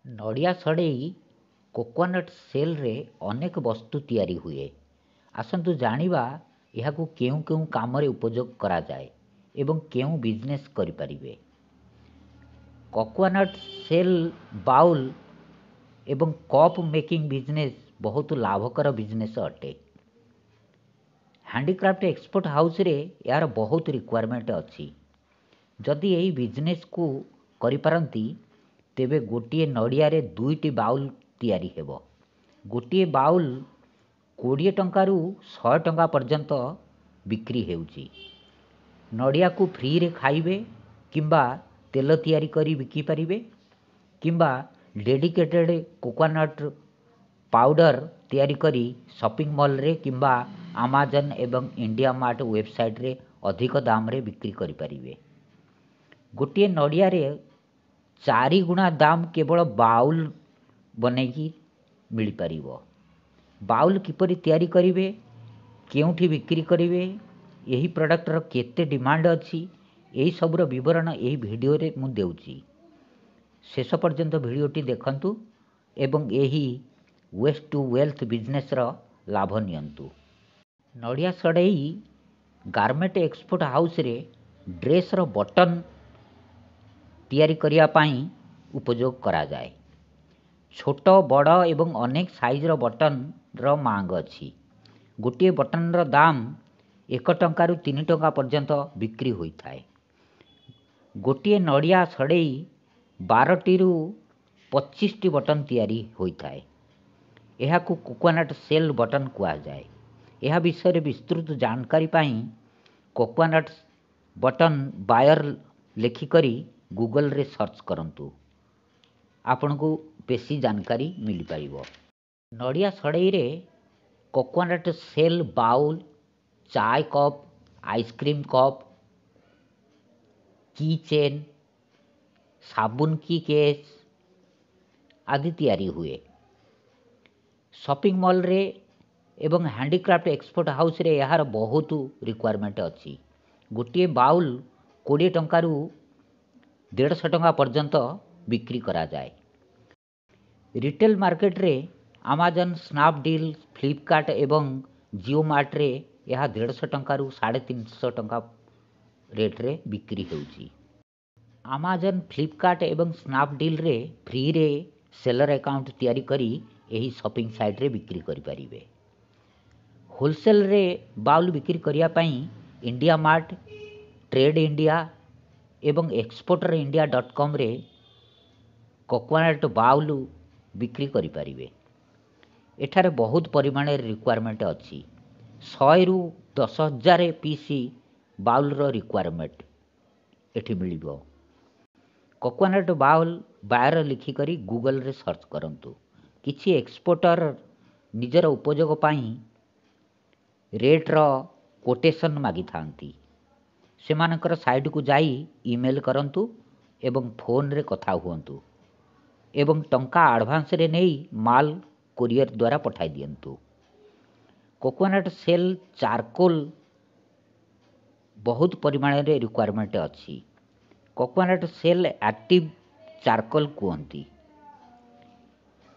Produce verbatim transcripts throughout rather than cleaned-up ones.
ନଡ଼ିଆ ସଢ଼େଇ କୋକୋନଟ୍ ସେଲ୍ରେ ଅନେକ ବସ୍ତୁ ତିଆରି ହୁଏ। ଆସନ୍ତୁ ଜାଣିବା ଏହାକୁ କେଉଁ କେଉଁ କାମରେ ଉପଯୋଗ କରାଯାଏ ଏବଂ କେଉଁ ବିଜନେସ୍ କରିପାରିବେ। କୋକୋନଟ୍ ସେଲ୍ ବାଉଲ୍ ଏବଂ କପ୍ ମେକିଂ ବିଜନେସ୍ ବହୁତ ଲାଭକର ବିଜନେସ୍ ଅଟେ। ହ୍ୟାଣ୍ଡିକ୍ରାଫ୍ଟ ଏକ୍ସପୋର୍ଟ ହାଉସ୍ରେ ଏହାର ବହୁତ ରିକ୍ୱାରମେଣ୍ଟ ଅଛି। ଯଦି ଏହି ବିଜନେସ୍କୁ କରିପାରନ୍ତି, ତେବେ ଗୋଟିଏ ନଡ଼ିଆରେ ଦୁଇଟି ବାଉଲ୍ ତିଆରି ହେବ। ଗୋଟିଏ ବାଉଲ୍ କୋଡ଼ିଏ ଟଙ୍କାରୁ ଶହେ ଟଙ୍କା ପର୍ଯ୍ୟନ୍ତ ବିକ୍ରି ହେଉଛି। ନଡ଼ିଆକୁ ଫ୍ରିରେ ଖାଇବେ କିମ୍ବା ତେଲ ତିଆରି କରି ବିକିପାରିବେ କିମ୍ବା ଡେଡିକେଟେଡ଼୍ କୋକୋନଟ୍ ପାଉଡ଼ର ତିଆରି କରି ସପିଂ ମଲ୍ରେ କିମ୍ବା ଆମାଜନ୍ ଏବଂ ଇଣ୍ଡିଆ ମାର୍ଟ ୱେବସାଇଟ୍ରେ ଅଧିକ ଦାମରେ ବିକ୍ରି କରିପାରିବେ। ଗୋଟିଏ ନଡ଼ିଆରେ ଚାରିଗୁଣା ଦାମ କେବଳ ବାଉଲ୍ ବନେଇକି ମିଳିପାରିବ। ବାଉଲ୍ କିପରି ତିଆରି କରିବେ, କେଉଁଠି ବିକ୍ରି କରିବେ, ଏହି ପ୍ରଡ଼କ୍ଟର କେତେ ଡିମାଣ୍ଡ ଅଛି, ଏହିସବୁର ବିବରଣ ଏହି ଭିଡ଼ିଓରେ ମୁଁ ଦେଉଛି। ଶେଷ ପର୍ଯ୍ୟନ୍ତ ଭିଡ଼ିଓଟି ଦେଖନ୍ତୁ ଏବଂ ଏହି ୱେଷ୍ଟ ଟୁ ୱେଲ୍ଥ ବିଜନେସ୍ର ଲାଭ ନିଅନ୍ତୁ। ନଡ଼ିଆ ସଢ଼େଇ ଗାର୍ମେଣ୍ଟ ଏକ୍ସପୋର୍ଟ ହାଉସ୍ରେ ଡ୍ରେସ୍ର ବଟନ୍ ତିଆରି କରିବା ପାଇଁ ଉପଯୋଗ କରାଯାଏ। ଛୋଟ, ବଡ଼ ଏବଂ ଅନେକ ସାଇଜ୍ର ବଟନ୍ର ମାଙ୍ଗ ଅଛି। ଗୋଟିଏ ବଟନ୍ର ଦାମ ଏକ ଟଙ୍କାରୁ ତିନି ଟଙ୍କା ପର୍ଯ୍ୟନ୍ତ ବିକ୍ରି ହୋଇଥାଏ। ଗୋଟିଏ ନଡ଼ିଆ ସଢ଼େଇ ବାରଟିରୁ ପଚିଶଟି ବଟନ୍ ତିଆରି ହୋଇଥାଏ। ଏହାକୁ କୋକୋନଟ୍ ସେଲ୍ ବଟନ୍ କୁହାଯାଏ। ଏହା ବିଷୟରେ ବିସ୍ତୃତ ଜାଣକାରୀ ପାଇଁ କୋକୋନଟ୍ ବଟନ୍ ବାୟର ଲେଖିକରି ଗୁଗଲରେ ସର୍ଚ୍ଚ କରନ୍ତୁ, ଆପଣଙ୍କୁ ବେଶୀ ଜାନକାରୀ ମିଳିପାରିବ। ନଡ଼ିଆ ସଢ଼େଇରେ coconut shell bowl, chai cup, ice cream cup, key chain, ସାବୁନ କି କେସ୍ ଆଦି ତିଆରି ହୁଏ। ସପିଂ ମଲ୍ରେ ଏବଂ ହ୍ୟାଣ୍ଡିକ୍ରାଫ୍ଟ ଏକ୍ସପୋର୍ଟ ହାଉସ୍ରେ ଏହାର ବହୁତ ରିକ୍ୱାରମେଣ୍ଟ ଅଛି। ଗୋଟିଏ ବାଉଲ୍ କୋଡ଼ିଏ ଟଙ୍କାରୁ ଦେଢ଼ଶହ ଟଙ୍କା ପର୍ଯ୍ୟନ୍ତ ବିକ୍ରି କରାଯାଏ। ରିଟେଲ୍ ମାର୍କେଟରେ ଆମାଜନ୍, ସ୍ନାପଡିଲ୍, ଫ୍ଲିପକାର୍ଟ ଏବଂ ଜିଓ ମାର୍ଟରେ ଏହା ଦେଢ଼ଶହ ଟଙ୍କାରୁ ସାଢ଼େ ତିନିଶହ ଟଙ୍କା ରେଟ୍ରେ ବିକ୍ରି ହେଉଛି। ଆମାଜନ୍, ଫ୍ଲିପକାର୍ଟ ଏବଂ ସ୍ନାପଡିଲ୍ରେ ଫ୍ରିରେ ସେଲର୍ ଆକାଉଣ୍ଟ ତିଆରି କରି ଏହି ସପିଂ ସାଇଟ୍ରେ ବିକ୍ରି କରିପାରିବେ। ହୋଲସେଲ୍ରେ ବାଉଲ୍ ବିକ୍ରି କରିବା ପାଇଁ ଇଣ୍ଡିଆ ମାର୍ଟ, ଟ୍ରେଡ୍ ଇଣ୍ଡିଆ ଏବଂ ଏକ୍ସପୋର୍ଟର ଇଣ୍ଡିଆ ଡଟ୍ କମ୍ରେ କୋକୋନଟ୍ ବାଉଲ୍ ବିକ୍ରି କରିପାରିବେ। ଏଠାରେ ବହୁତ ପରିମାଣରେ ରିକ୍ୱାରମେଣ୍ଟ ଅଛି। ଶହେରୁ ଦଶ ହଜାର ପିସ୍ ବାଉଲ୍ର ରିକ୍ୱାରମେଣ୍ଟ ଏଠି ମିଳିବ। କୋକୋନଟ୍ ବାଉଲ୍ ବାୟର ଲେଖିକରି ଗୁଗଲରେ ସର୍ଚ୍ଚ କରନ୍ତୁ। କିଛି ଏକ୍ସପୋର୍ଟର ନିଜର ଉପଯୋଗ ପାଇଁ ରେଟ୍ର କୋଟେସନ୍ ମାଗିଥାନ୍ତି। ସେମାନଙ୍କର ସାଇଟ୍କୁ ଯାଇ ଇମେଲ୍ କରନ୍ତୁ ଏବଂ ଫୋନ୍ରେ କଥା ହୁଅନ୍ତୁ ଏବଂ ଟଙ୍କା ଆଡ଼ଭାନ୍ସରେ ନେଇ ମାଲ କୋରିଅର ଦ୍ୱାରା ପଠାଇ ଦିଅନ୍ତୁ। କୋକୋନଟ୍ ସେଲ୍ ଚାରକୋଲ୍ ବହୁତ ପରିମାଣରେ ରିକ୍ୱାରମେଣ୍ଟ ଅଛି। କୋକୋନଟ୍ ସେଲ୍ ଆକ୍ଟିଭ୍ ଚାରକୋଲ୍ କୁହନ୍ତି।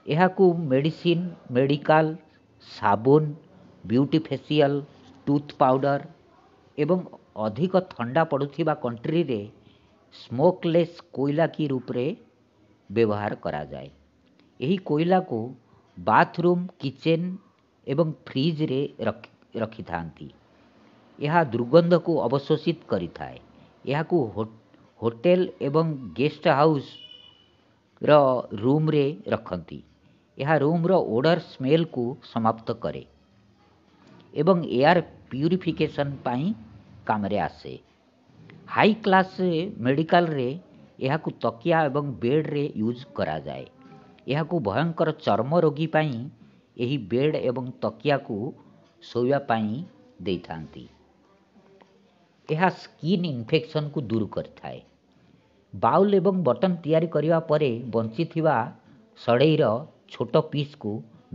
ଏହାକୁ ମେଡ଼ିସିନ, ମେଡ଼ିକାଲ, ସାବୁନ, ବିୟୁଟି ଫେସିଆଲ, ଟୁଥ୍ ପାଉଡ଼ର ଏବଂ ଅଧିକ ଥଣ୍ଡା ପଡ଼ୁଥିବା କଣ୍ଟ୍ରିରେ ସ୍ମୋକଲେସ୍ କୋଇଲା କି ରୂପରେ ବ୍ୟବହାର କରାଯାଏ। ଏହି କୋଇଲାକୁ ବାଥରୁମ୍, କିଚେନ୍ ଏବଂ ଫ୍ରିଜରେ ରଖିଥାନ୍ତି। ଏହା ଦୁର୍ଗନ୍ଧକୁ ଅବଶୋଷିତ କରିଥାଏ। ଏହାକୁ ହୋଟେଲ ଏବଂ ଗେଷ୍ଟ ହାଉସ୍ର ରୁମ୍ରେ ରଖନ୍ତି। ଏହା ରୁମ୍ର ଓଡ଼ର ସ୍ମେଲ୍କୁ ସମାପ୍ତ କରେ ଏବଂ ଏୟାର ପ୍ୟୁରିଫିକେସନ୍ ପାଇଁ କାମରେ ଆସେ। ହାଇ କ୍ଲାସ୍ ମେଡ଼ିକାଲରେ ଏହାକୁ ତକିଆ ଏବଂ ବେଡ଼୍ରେ ୟୁଜ୍ କରାଯାଏ। ଏହାକୁ ଭୟଙ୍କର ଚର୍ମ ରୋଗୀ ପାଇଁ ଏହି ବେଡ଼୍ ଏବଂ ତକିଆକୁ ଶୋଇବା ପାଇଁ ଦେଇଥାନ୍ତି। ଏହା ସ୍କିନ୍ ଇନଫେକ୍ସନ୍କୁ ଦୂର କରିଥାଏ। ବାଉଲ୍ ଏବଂ ବଟନ୍ ତିଆରି କରିବା ପରେ ବଞ୍ଚିଥିବା ସଢ଼େଇର ଛୋଟ ପିସ୍କୁ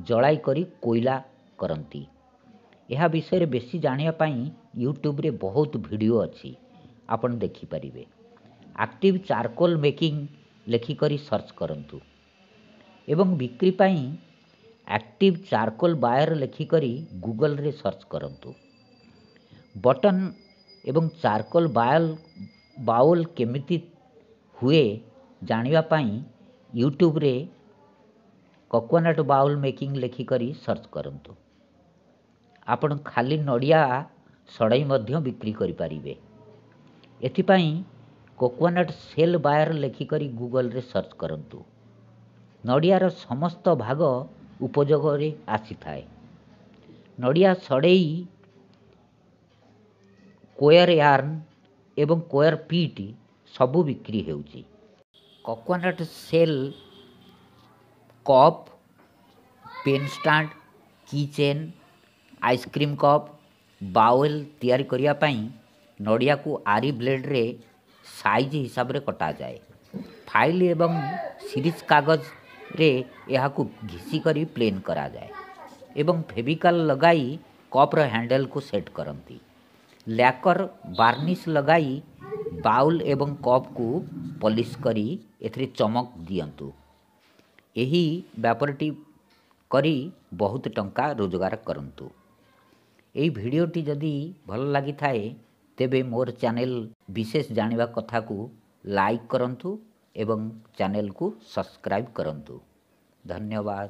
ଜଳାଇ କରି କୋଇଲା କରନ୍ତି। ଏହା ବିଷୟରେ ବେଶୀ ଜାଣିବା ପାଇଁ ୟୁଟ୍ୟୁବରେ ବହୁତ ଭିଡ଼ିଓ ଅଛି, ଆପଣ ଦେଖିପାରିବେ। ଆକ୍ଟିଭ୍ ଚାରକୋଲ୍ ମେକିଂ ଲେଖିକରି ସର୍ଚ୍ଚ କରନ୍ତୁ। ଏବଂ ବିକ୍ରି ପାଇଁ ଆକ୍ଟିଭ୍ ଚାରକୋଲ୍ ବାୟର୍ ଲେଖିକରି ଗୁଗଲ୍ରେ ସର୍ଚ୍ଚ କରନ୍ତୁ। ବଟନ୍ ଏବଂ ଚାରକୋଲ୍ ବାୟଲ୍ ବାଉଲ୍ କେମିତି ହୁଏ ଜାଣିବା ପାଇଁ ୟୁଟ୍ୟୁବରେ କୋକୋନଟ୍ ବାଉଲ୍ ମେକିଂ ଲେଖିକରି ସର୍ଚ୍ଚ କରନ୍ତୁ। ଆପଣ ଖାଲି ନଡ଼ିଆ ସଢ଼େଇ ମଧ୍ୟ ବିକ୍ରି କରିପାରିବେ। ଏଥିପାଇଁ କୋକୋନଟ୍ ସେଲ୍ ବାୟର୍ ଲେଖିକରି ଗୁଗଲ୍ରେ ସର୍ଚ୍ଚ କରନ୍ତୁ। ନଡ଼ିଆର ସମସ୍ତ ଭାଗ ଉପଯୋଗରେ ଆସିଥାଏ। ନଡ଼ିଆ ସଢ଼େଇ, କୋୟର୍ ୟାର୍ନ ଏବଂ କୋୟର୍ ପିଟ୍ ସବୁ ବିକ୍ରି ହେଉଛି। Coconut shell cup, pen stand, key chain, ice cream cup, bowl ତିଆରି କରିବା ପାଇଁ ନଡ଼ିଆକୁ ଆରି ବ୍ଲେଡ଼୍ରେ ସାଇଜ୍ ହିସାବରେ କଟାଯାଏ। ଫାଇଲ୍ ଏବଂ ସିରିଜ୍ କାଗଜରେ ଏହାକୁ ଘିସି କରି ପ୍ଲେନ୍ କରାଯାଏ ଏବଂ ଫେଭିକଲ୍ ଲଗାଇ କପ୍ର ହ୍ୟାଣ୍ଡେଲ୍କୁ ସେଟ୍ କରନ୍ତି। ଲ୍ୟାକର୍ ବାର୍ନିସ୍ ଲଗାଇ ବାଉଲ୍ ଏବଂ କପ୍କୁ ପଲିସ୍ କରି ଏଥିରେ ଚମକ ଦିଅନ୍ତୁ। ଏହି ବ୍ୟାପାରଟି କରି ବହୁତ ଟଙ୍କା ରୋଜଗାର କରନ୍ତୁ। ଏହି ଭିଡ଼ିଓଟି ଯଦି ଭଲ ଲାଗିଥାଏ, ତେବେ ମୋର ଚ୍ୟାନେଲ୍ ବିଶେଷ ଜାଣିବା କଥାକୁ ଲାଇକ୍ କରନ୍ତୁ ଏବଂ ଚ୍ୟାନେଲ୍କୁ ସବସ୍କ୍ରାଇବ୍ କରନ୍ତୁ। ଧନ୍ୟବାଦ।